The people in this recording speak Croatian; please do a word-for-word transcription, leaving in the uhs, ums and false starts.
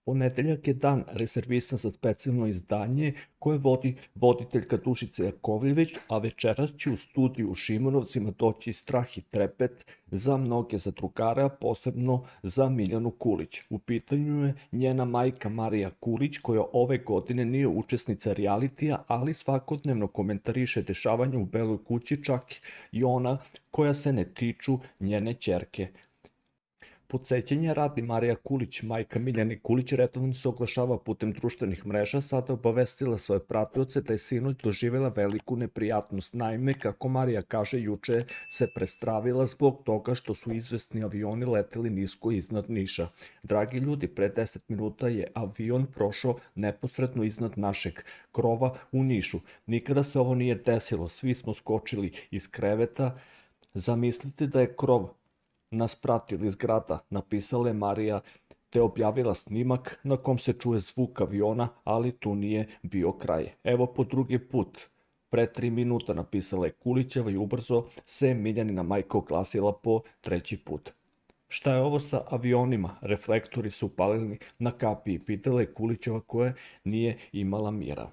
Ponedeljak je dan rezervisan za specijalno izdanje koje vodi voditeljka Dušica Jakovljević, a večeras će u studiju u Šimonovcima doći strah i trepet za mnoge zadrugare, a posebno za Miljanu Kulić. U pitanju je njena majka Marija Kulić, koja ove godine nije učesnica realitija, ali svakodnevno komentariše dešavanja u Beloj kući, čak i ona koja se ne tiču njene ćerke. Podsećanja radi, Marija Kulić, majka Miljane Kulić, redovno se oglašava putem društvenih mreža, sada obavestila svoje pratioce da je sinoć doživela veliku neprijatnost. Naime, kako Marija kaže, juče se prestravila zbog toga što su izvesni avioni leteli nisko iznad Niša. Dragi ljudi, pre deset minuta je avion prošao neposredno iznad našeg krova u Nišu. Nikada se ovo nije desilo, svi smo skočili iz kreveta. Zamislite da je krov nas pratili iz grada, napisala je Marija, te objavila snimak na kom se čuje zvuk aviona, ali tu nije bio kraj. Evo po drugi put, pre tri minuta, napisala je Kulićeva i ubrzo se Miljanina majka oglasila po treći put. Šta je ovo sa avionima? Reflektori su upalili na kapiji, pitala je Kulićeva koja nije imala mira.